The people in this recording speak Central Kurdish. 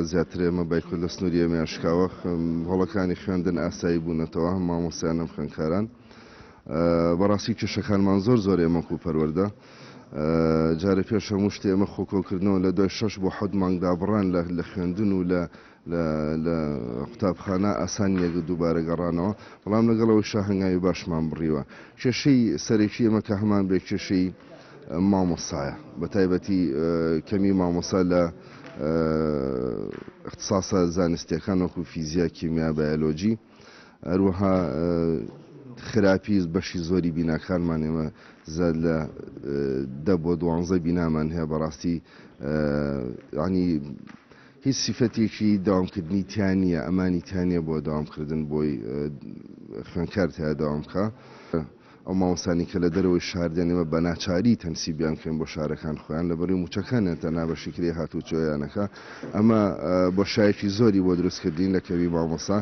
زیاتر ئێمە بایکۆت لە سنووری ئێمەیان شکاوە، هۆڵەکانی خوێندن ئاسایی بوونەتەوە، هەم مامۆستایان هەم خوێندکاران. بەڕاستی کێشەکانمان زۆر زۆر ئێمە وەکو پەروەردە. جارێ پێش هەموو شتێ ئێمە خۆکۆکردنەوە لە دوای شەش بۆ حەوت مانگ دابڕان لە خوێندن و لە لە قوتابخانە ئاسان نییە دووبارە گەڕانەوە، بەڵام لەگەڵ ئەوەیشا هەنگاوی باشمان بڕیوە. کێشەی سەرەکی ئێمە کە هەمان بێ کێشەی مامۆستایە، بە تایبەتی کەمی مامۆستا لە ئیختساسە زانستییەکان وەکو فیزیا، کیمیا، بایۆلۆجی، هەروەها خراپی بەشی زۆری بیناکانمان ئێمە زیاد لە 10 بۆ 12 بینامان هەیە بەڕاستی ینی هیچ سیفەتێکی داوامکردنی تیا نییە، ئەمانی تیا نییە بۆ داوامکردن بۆی خوێندکار تیا داوام بکا. ئەو مامۆستانی کە لە دەرەوەی شار دێن ئێمە بە ناچاری تەنسیبیان بکەین بۆ شارەکان خۆیان لەبەروی موچەکانیان تەنها بەشی کرێی هاتوچۆیانەکە ئەمە بۆشایەکی زۆری بۆ دروست کردین لە کەمی مامۆستا.